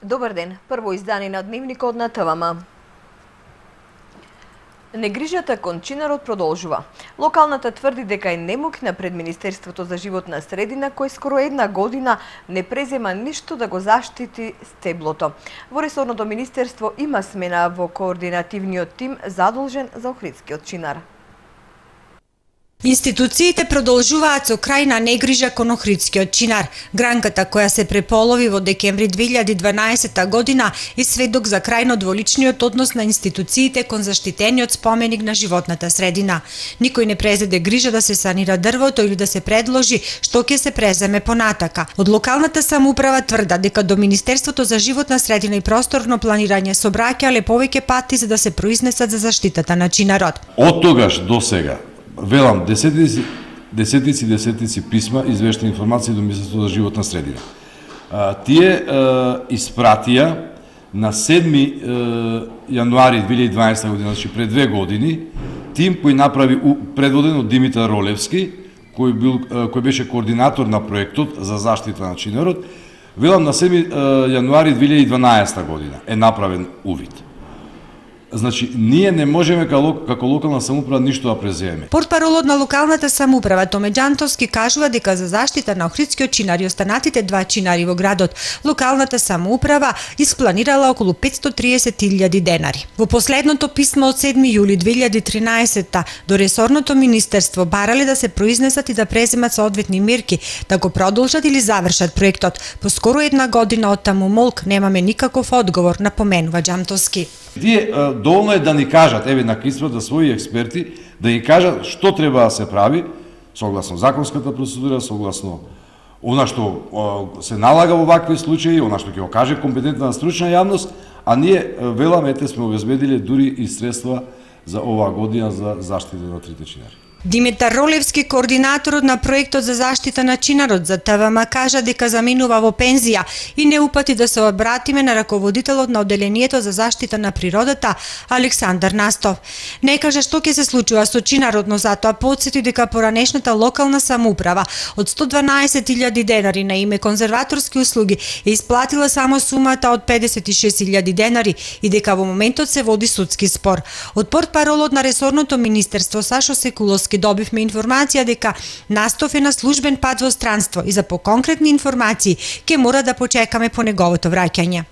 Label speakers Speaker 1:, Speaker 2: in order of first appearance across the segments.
Speaker 1: Добар ден, прво издание на дневникот на ТВМ. Негрижата кон чинарот продолжува. Локалната тврди дека е немокна пред Министерството за животна средина, кој скоро една година не презема ништо да го заштити стеблото. Во ресорното министерство има смена во координативниот тим задолжен за охридскиот чинар.
Speaker 2: Институциите продолжуваат со крајна негрижа кон охридскиот чинар. Гранката која се преполови во декември 2012 година е сведок за крајно дволичниот однос на институциите кон заштитениот споменик на животната средина. Никој не презеде грижа да се санира дрвото или да се предложи што ќе се преземе понатака. Од локалната самоуправа тврда дека до Министерството за животна средина и просторно планирање се обраќале повеќе пати за да се произнесат за заштитата на чинарот.
Speaker 3: Од тогаш до сега велам десетици писма, извештени информации до Министерството за животна средина. Тие испратија на 7 јануари 2012 година, значи пред 2 години, тим кој направи предводен од Димитар Ролевски, кој беше координатор на проектот за заштита на чинарот. Велам на 7 јануари 2012 година е направен увид. Значи, ние не можеме како локална самоуправа ништо да преземеме.
Speaker 2: Портпаролот на локалната самоуправа Томе Џантовски кажува дека за заштита на охридскиот чинар и останатите 2 чинари во градот, локалната самоуправа испланирала околу 530.000 денари. Во последното писмо од 7 јули 2013 до ресорното министерство барале да се произнесат и да преземат соодветни мерки, да го продолжат или завршат проектот. По скоро една година од таму молк немаме никаков одговор, напоменува Џантовски.
Speaker 3: Тие доволно е да ни кажат, еве на испрата своји експерти, да ни кажат што треба да се прави, согласно законската процедура, согласно она што се налага во вакви случаи, она што ќе го каже компетентна стручна јавност, а ние веламе сме обезбедиле дури и средства за оваа година за заштита на трите чинари.
Speaker 2: Димитар Ролевски, координаторот на проектот за заштита на чинарот за ТВМ, кажа дека заминува во пензија и не упати да се обратиме на раководителот на одделението за заштита на природата Александар Настов. Не кажа што ќе се случува со чинарот, но затоа потсети дека поранешната локална самоуправа од 112.000 денари на име конзерваторски услуги е исплатила само сумата од 56.000 денари и дека во моментот се води судски спор. Од портпаролот на ресорното министерство Сашо Секуловски добивме информација дека Настов е на службен пат во странство и за поконкретни информации ќе мора да почекаме по неговото враќање.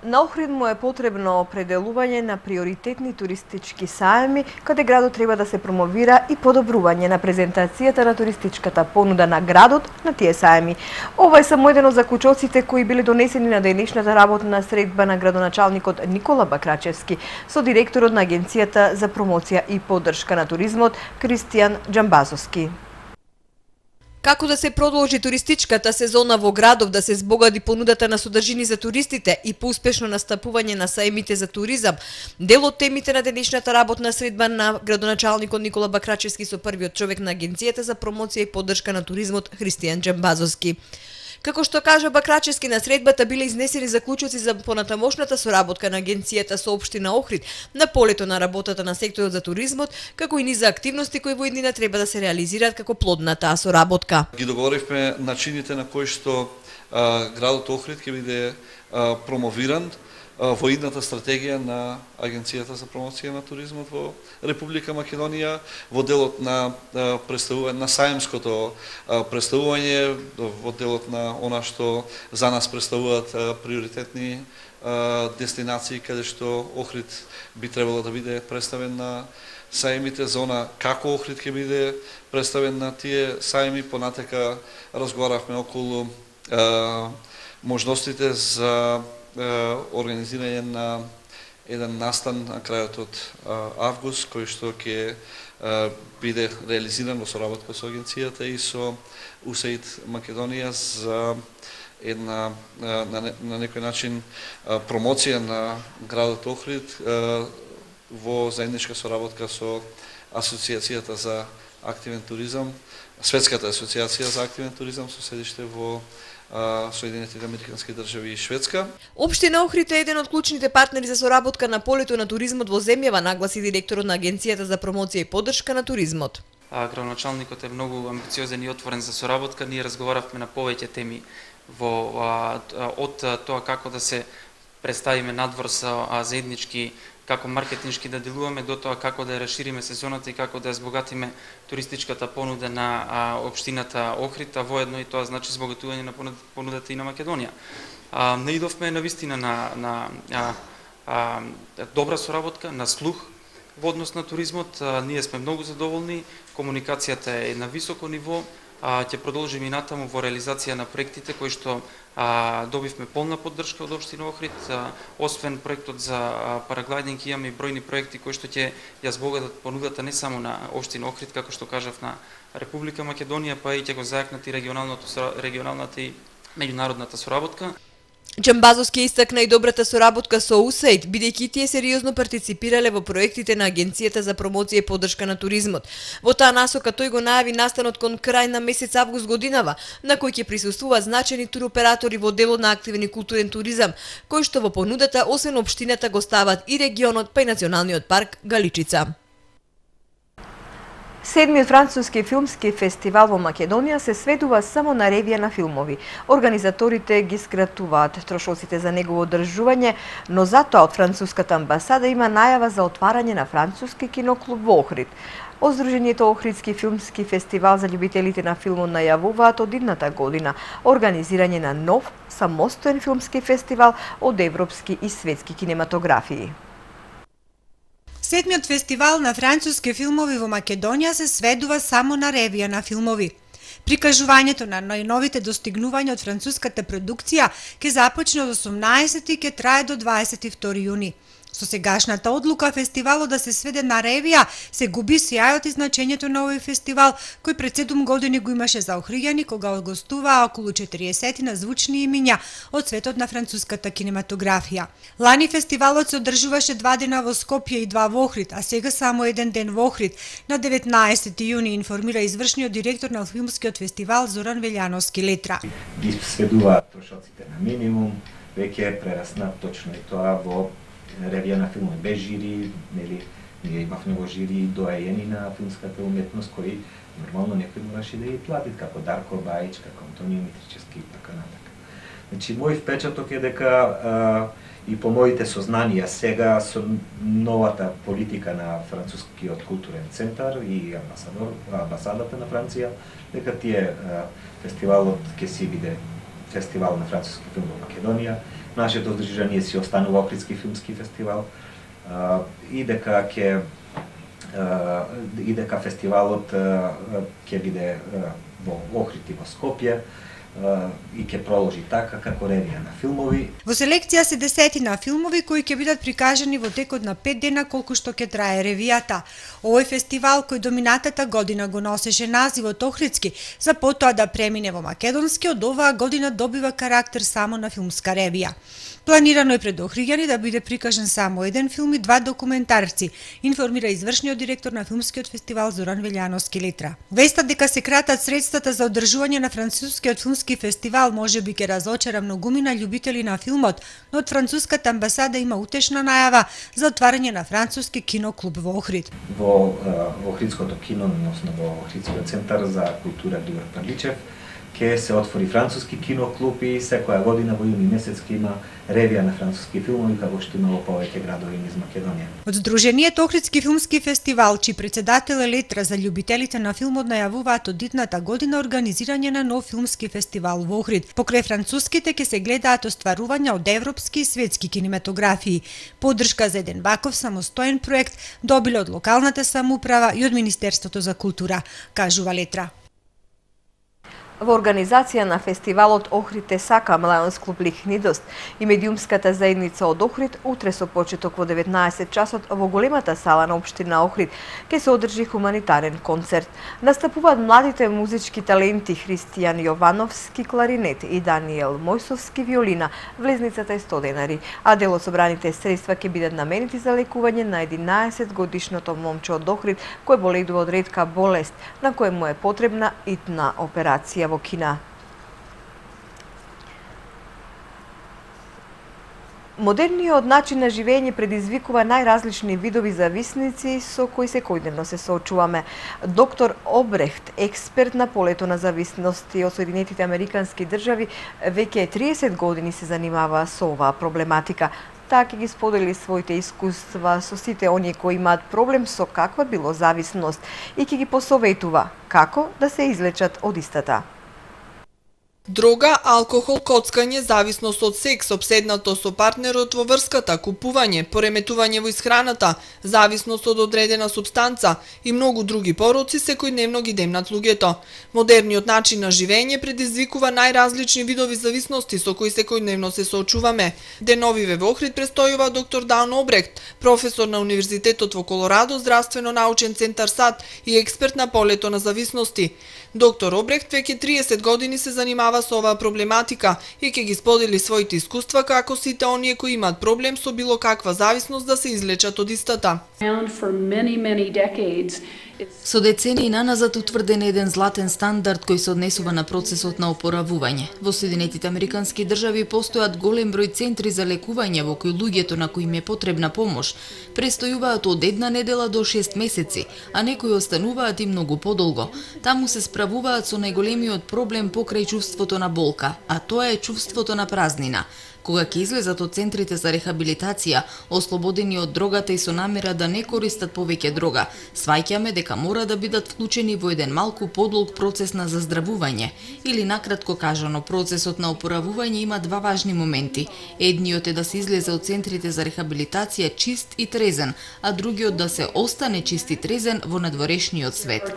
Speaker 1: На Охрид му е потребно определување на приоритетни туристички саеми, каде градот треба да се промовира и подобрување на презентацијата на туристичката понуда на градот на тие саеми. Ова е само еден од заклучоците кои биле донесени на денешната работна средба на градоначалникот Никола Бакрачевски со директорот на Агенцијата за промоција и поддршка на туризмот Христијан Џамбазовски.
Speaker 4: Како да се продолжи туристичката сезона во градов, да се збогади понудата на содржини за туристите и поуспешно настапување на саемите за туризам, дел од темите на денешната работна средба на градоначалникот Никола Бакрачевски со првиот човек на Агенцијата за промоција и поддршка на туризмот Христијан Џамбазовски. Како што кажа Бакрачевски, на средбата биле изнесени заклучоци за понатамошната соработка на Агенцијата со општина Охрид на полето на работата на секторот за туризмот, како и низ активности кои во иднина треба да се реализираат како плод на таа соработка.
Speaker 5: Ги договоривме начините на кои што градот Охрид ќе биде промовиран во идната стратегија на Агенцијата за промоција на туризмот во Република Македонија, во делот на представување на саемското представување, во делот на она што за нас представуваат приоритетни дестинации каде што Охрид би требало да биде представен на саемите, за она како Охрид ќе биде представен на тие саеми. Понатака разговаравме околу можностите за организирање на еден настан на крајот од август, кој што ќе биде реализиран во соработка со Агенцијата и со УСАИД Македонија за една на некој начин промоција на градот Охрид во заедничка соработка со Асоциацијата за активен туризам, Светската асоциација за активен туризам со седиште во Соединетите Американски држави и Шведска.
Speaker 4: Општина Охрид е еден од клучните партнери за соработка на полето на туризмот во земјава, нагласи директорот на Агенцијата за промоција и поддршка на туризмот.
Speaker 6: Градоначалникот е многу амбициозен и отворен за соработка. Ние разговаравме на повеќе теми од тоа како да се представиме надвор со заеднички, како маркетиншки да делуваме, до тоа како да ја расшириме сезоната и како да ја збогатиме туристичката понуда на општината Охрид, а воедно и тоа значи збогатување на понудата и на Македонија. Наидовме навистина на добра соработка, на слух во однос на туризмот. Ние сме многу задоволни, комуникацијата е на високо ниво, ќе продолжиме и натаму во реализација на проектите кои што добивме полна поддршка од општина Охрид. Освен проектот за параглайдинг, имаме и бројни проекти кои што ќе ја збогатат понудата не само на општина Охрид, како што кажав, на Република Македонија, па и ќе го зајакнат и регионалната и меѓународната соработка.
Speaker 4: Џамбазовски истакна и добрата соработка со USAID, бидејќи тие сериозно партиципирале во проектите на Агенцијата за промоција и поддршка на туризмот. Во таа насока тој го најави настанот кон крај на месец август годинава, на кој ќе присуствуваат значајни туроператори во делот на активен и културен туризам, кои што во понудата освен општината го стават и регионот, па и националниот парк Галичица.
Speaker 1: Седмиот француски филмски фестивал во Македонија се сведува само на ревија на филмови. Организаторите ги скратуваат трошоците за негово одржување, но затоа од француската амбасада има најава за отварање на француски киноклуб во Охрид. Од Сдруженијето Охридски филмски фестивал за љубителите на филмот најавуваат од идната година организирање на нов самостоен филмски фестивал од европски и светски кинематографии.
Speaker 2: Седмиот фестивал на француски филмови во Македонија се сведува само на ревија на филмови. Прикажувањето на најновите достигнувања од француската продукција ќе започне од 18 и ќе трае до 22 јуни. Со сегашната одлука фестивалот да се сведе на ревија се губи сјајот и значењето на овој фестивал, кој пред 7 години го имаше за Охриѓани кога гостуваа околу 40 на звучни имиња од светот на француската кинематографија. Лани фестивалот се одржуваше 2 дена во Скопје и 2 во Охрид, а сега само 1 ден во Охрид. На 19 јуни информира извршниот директор на филмскиот фестивал Зоран Велјановски Летра.
Speaker 7: Ги сведуваат трошоците на минимум, веќе прерасна точно и тоа во ревија на филмови без жири, нели, ние имавме во жири доајени на филмската уметност кои нормално некој мораше да ги платит, како Дарко Бајич, како Антонио Митричевски и така натака. Значи, мој впечаток е дека и по моите сознанија сега со новата политика на францускиот културен центар и амбасадата на Франција, дека тие фестивалот ќе си биде фестивал на француски филм во Македонија. Нашето здружение си останува Охридски филмски фестивал и дека фестивалот ќе биде во Охрид и во Скопје и ќе проложи така како ревија на филмови.
Speaker 2: Во селекција се десетина филмови кои ќе бидат прикажани во текот на 5 дена колку што ќе трае ревијата. Овој фестивал кој до минатата година го носеше називот Охридски, за потоа да премине во македонски, од оваа година добива карактер само на филмска ревија. Планирано е пред Охриѓани да биде прикажан само 1 филм и 2 документарци, информира извршниот директор на филмскиот фестивал Зоран Велјановски Летра. Вестат дека се кратат средствата за одржување на францускиот филмски фестивал можеби ќе разочара многумина љубители на филмот, но од француската амбасада има утешна најава за отварање на француски киноклуб во Охрид.
Speaker 7: Во Охридското кино, односно во Охридскиот центар за култура Дувар Парличев, ќе се отвори француски киноклуб и секоја година во јуни месец ќе има ревија на француски филмови, како што има во повеќе градови низ Македонија.
Speaker 2: Од Сдруженијето Охридски филмски фестивал, чиј председател е Летра, за љубителите на филмот најавуваат од идната година организирање на нов филмски фестивал во Охрид. Покрај француските ќе се гледаат остварувања од европски и светски кинематографии. Поддршка за еден ваков самостоен проект добиле од локалната самоуправа и од Министерството за култура, кажува Летра.
Speaker 1: Во организација на фестивалот Охрид те сакам Лајонс клуб Лихнидост и медиумската заедница од Охрид утре со почеток во 19 часот во големата сала на општина Охрид ќе се одржи хуманитарен концерт. Настапуваат младите музички таленти Христијан Јовановски кларинет и Даниел Мојсовски виолина, влезницата е 100 денари, а дел од собраните средства ќе бидат наменети за лекување на 11 годишното момче од Охрид кој боледува од ретка болест, на кој му е потребна итна операција во Кина. Модерниот начин на живење предизвикува најразлични видови зависници со кои секојдневно се соочуваме. Доктор Обрехт, експерт на полето на зависности од Соединетите Американски држави, веќе 30 години се занимава со оваа проблематика. Таа ќе ги сподели своите искуства со сите оние кои имаат проблем со каква било зависност и ќе ги посоветува како да се излечат од истата.
Speaker 4: Дрога, алкохол, коцкање, зависност од секс, обседнато со партнерот во врската, купување, пореметување во исхраната, зависност од одредена супстанца и многу други пороци секојдневно ги демнат луѓето. Модерниот начин на живење предизвикува најразлични видови зависности со кои секојдневно се соочуваме. Деновиве во Охрид престојува доктор Даун Обрехт, професор на Универзитетот во Колорадо, здравствено-научен центар САД и експерт на полето на зависности. Доктор Обрехт веќе 30 години се занимава со оваа проблематика и ќе ги сподели своите искуства како сите оние кои имаат проблем со било каква зависност да се излечат од истата.
Speaker 8: Со децении наназад утврден еден златен стандард кој се однесува на процесот на опоравување. Во Соединетите Американски држави постојат голем број центри за лекување во кои луѓето на кои им е потребна помош престојуваат од 1 недела до 6 месеци, а некои остануваат и многу подолго. Таму се справуваат со најголемиот проблем покрај чувството на болка, а тоа е чувството на празнина. Кога ќе излезат од центрите за рехабилитација, ослободени од дрогата и со намера да не користат повеќе дрога, сваќаме дека мора да бидат вклучени во еден малку подолг процес на заздравување. Или накратко кажано, процесот на опоравување има два важни моменти. Едниот е да се излезе од центрите за рехабилитација чист и трезен, а другиот да се остане чист и трезен во надворешниот свет.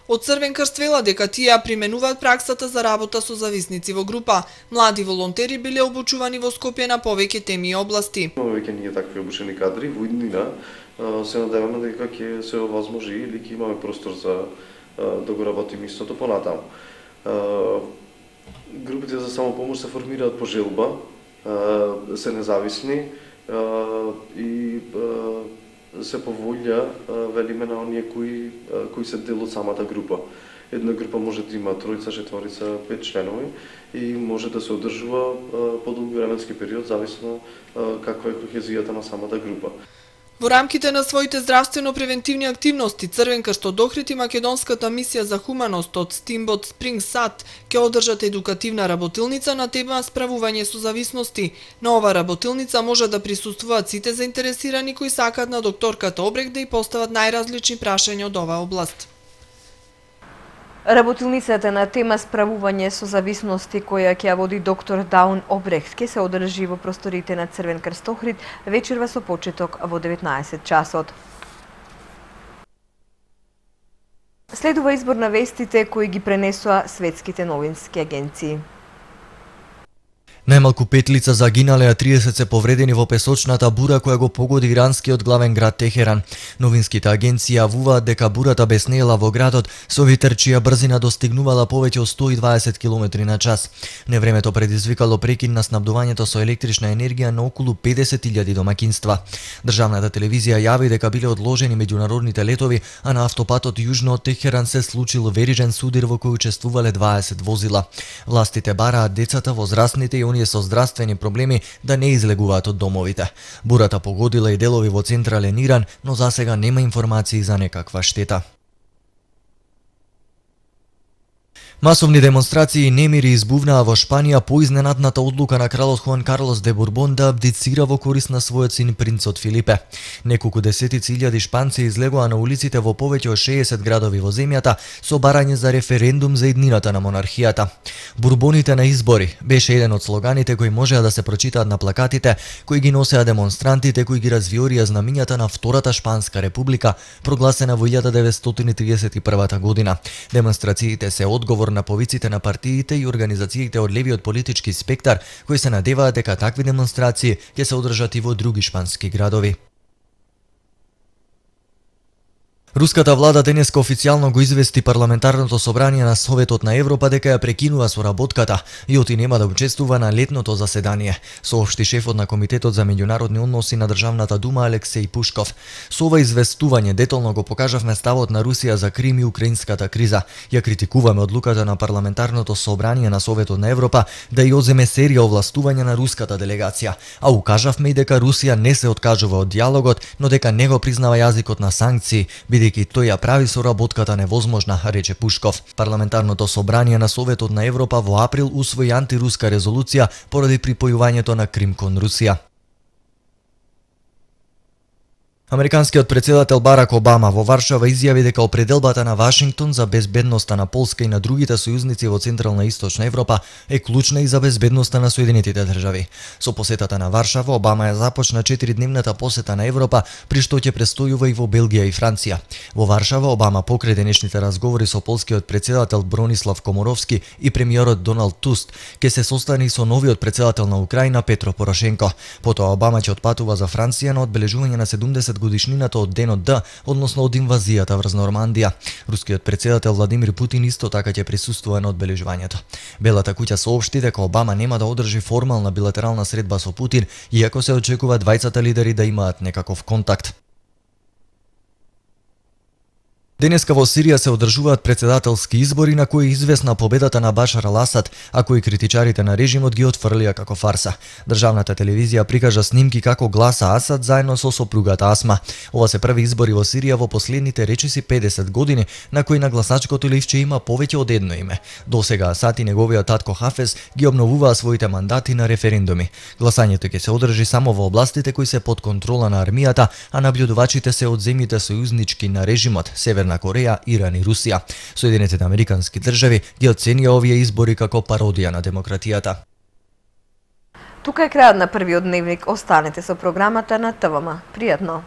Speaker 4: Од Црвен крст вела дека тие применуваат праксата за работа со зависници во група. Млади волонтери биле обучувани во Скопје на повеќе теми и области.
Speaker 9: Веќе ние такви обучени кадри во иднина се надеваме дека ќе се овозможи или ќе имаме простор за да го работиме истото понатаму. Групите за самопомош се формираат по желба, се независни и се по волја, велиме, на оние кои се дел од самата група. Една група може да има 3, 4, 5 членови и може да се одржува подолг временски период, зависно каква е кохезијата на самата група.
Speaker 4: Во рамките на своите здравствено-превентивни активности, Црвен крст од Охрид и Македонската мисија за хуманост од Steamboat Springs САД ќе одржат едукативна работилница на тема справување со зависности. На ова работилница може да присуствуваат сите заинтересирани кои сакаат на докторката Обрехт да ја постават најразлични прашања од оваа област.
Speaker 1: Работилницата на тема справување со зависности која ќе ја води доктор Даун Обрехт ќе се одржи во просторите на Црвен крст Охрид вечерва со почеток во 19 часот. Следува избор на вестите кои ги пренесоа светските новински агенции.
Speaker 10: Најмалку 5 лица загинале, а 30 се повредени во песочната бура која го погоди иранскиот главен град Техеран. Новинските агенции јавуваат дека бурата беснеела во градот со ветер чија брзина достигнувала повеќе од 120 км на час. Невремето предизвикало прекин на снабдувањето со електрична енергија на околу 50.000 домакинства. Државната телевизија јави дека биле одложени меѓународните летови, а на автопатот јужно од Техеран се случил верижен судир во кој учествувале 20 возила. Властите бараат децата, возрастните и оние со здравствени проблеми да не излегуваат од домовите. Бурата погодила и делови во централен Иран, но засега нема информации за некаква штета. Масовни демонстрации и немири избувнаа во Шпанија по изненадната одлука на кралот Хуан Карлос де Бурбон да абдицира во корист на својот син принцот Филипе. Неколку десетици илјади шпанци излегоа на улиците во повеќе од 60 градови во земјата со барање за референдум за иднината на монархијата. Бурбоните на избори беше еден од слоганите кои можеа да се прочитаат на плакатите кои ги носеа демонстрантите кои ги развиорија знамињата на Втората Шпанска република, прогласена во 1931 година. Демонстрациите се одговор на повиците на партиите и организациите од левиот политички спектар кои се надеваат дека такви демонстрации ќе се одржат и во други шпански градови. Руската влада денеска официјално го извести парламентарното собрание на Советот на Европа дека ја прекинува соработката и оти нема да учествува на летното заседание, соопшти шефот на Комитетот за меѓународни односи на Државната дума Алексеј Пушков. Со ова известување детално го покажавме ставот на Русија за Крим и украинската криза. Ја критикуваме одлуката на парламентарното собрание на Советот на Европа да ја одземе серија овластување на руската делегација, а укажавме и дека Русија не се откажува од диалогот, но дека не го признава јазикот на санкции, бидејќи тој ја прави соработката невозможна, рече Пушков. Парламентарното собрание на Советот на Европа во април усвои антируска резолуција поради припојувањето на Крим кон Русија. Американскиот претседател Барак Обама во Варшава изјави дека определбата на Вашингтон за безбедноста на Полска и на другите сојузници во Централна и Источна Европа е клучна и за безбедноста на Соединетите држави. Со посетата на Варшава, Обама ја започна 4-дневната посета на Европа, при што ќе престојува и во Белгија и Франција. Во Варшава, Обама покрај денешните разговори со полскиот претседател Бронислав Коморовски и премиерот Доналд Туск, ќе се состане и со новиот претседател на Украина Петро Порошенко. Потоа Обама ќе отпатува за Франција на одбележување на 70 годишнината од денот Д, односно од инвазијата врз Нормандија. Рускиот претседател Владимир Путин исто така ќе присуствува на одбележувањето. Белата куќа соопшти дека Обама нема да одржи формална билатерална средба со Путин, иако се очекува двајцата лидери да имаат некаков контакт. Денеска во Сирија се одржуваат претседателски избори на кои известна победата на Башар ал-Асад, а кои критичарите на режимот ги отфрлија како фарса. Државната телевизија прикажа снимки како гласа Асад заедно со сопругата Асма. Ова се први избори во Сирија во последните речиси 50 години, на кои на гласачкото ливче има повеќе од едно име. Досега Асад и неговиот татко Хафез ги обновуваа своите мандати на референдуми. Гласањето ќе се одржи само во областите кои се под контрола на армијата, а набљудувачите се од земјите сојузнички на режимот, Северна Кореја, Иран и Русија. Соединетите американски држави ги оценија овие избори како пародија на демократијата.
Speaker 1: Тука е крајот на првиот дневник. Останете со програмата на ТВМ. Пријатно!